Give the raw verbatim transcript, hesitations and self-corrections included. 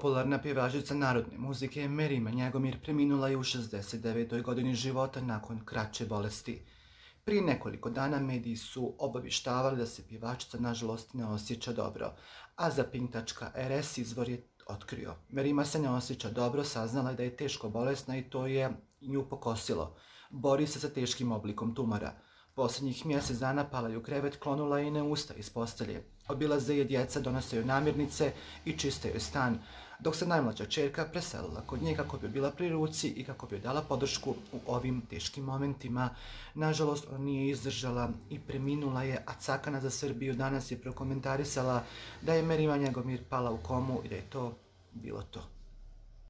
Popularna pjevačica narodne muzike Merima Njegomir preminula je u šezdeset devetoj godini života nakon kraće bolesti. Prije nekoliko dana mediji su obavještavali da se pjevačica nažalost ne osjeća dobro, a za pink tačka er es izvor je otkrio: Merima se ne osjeća dobro, saznala je da je teško bolesna i to je nju pokosilo. Bori se sa teškim oblikom tumora. Posljednjih mjesec dana pala je u krevet, klonula je i ne ustaje iz postelje. Obilaze je djeca, donose joj namirnice i čiste joj stan, dok se najmlađa ćerka preselila kod nje kako bi bila pri ruci i kako bi joj dala podršku u ovim teškim momentima. Nažalost, ona nije izdržala i preminula je, a Cakana za Srbiju danas je prokomentarisala da je Merima Njegomir pala u komu i da je to bilo to.